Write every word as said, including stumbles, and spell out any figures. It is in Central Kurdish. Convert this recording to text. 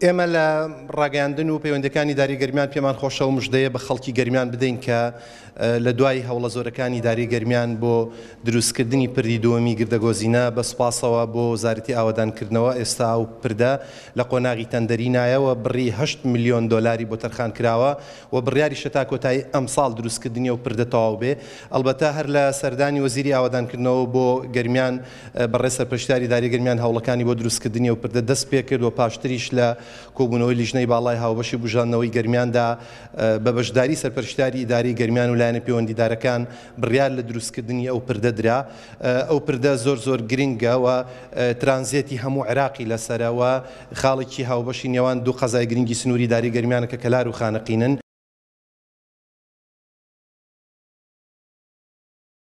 ئێمە لە ڕاگەیاندن و پەیوەندیەکانی ئیدارەی گەرمیان پێمان خۆشە و مژدەیە بە خەڵکی گەرمیان بدەین کە لە دوای هەوڵە زۆرەکانی ئیدارەی گەرمیان بۆ دروستکردنی پردی دووەمی گردەگۆزینە بە سوپاسەوە بۆ وەزارەتی ئاوەدانکردنەوە ئێستا ئەو پردە لە قۆناغی تەندەری نایەوە بڕی هەشت ملیۆن دۆلاری بۆ تەرخان کراوە و بڕیاریشە تا کۆتایی ئەمساڵ دروستکردنی ئەو پردە تەواو بێ. ئەڵبەتە هەر لە سەردانی وەزیری ئاوەدانکردنەوە بۆ گەرمیان بەڕێز سەرپەرشتیاری ئیدارەی گەرمیان هەوڵەکانی بۆ دروستکردنی ئەو پردە دەست پێکرد و پاشتریش لە کۆبوونەوەی لیژنەی باڵای هاوبەشی بوژاندنەوەی گەرمیاندا بە بەشداری سەرپەرشتیاری ئیدارەی گەرمیان و لایەنە پەیوەندیدارەکان بڕیار لە دروستکردنی ئەو پردە درا. ئەو پردە زۆر زۆر گرنگە و ترانزێتی هەموو عێراقی لەسەرە و خاڵێکی هاوبەشی نێوان دوو قەزای گرنگی سنووری ئیدارەی گەرمیانە کە کەلار و خانەقینن.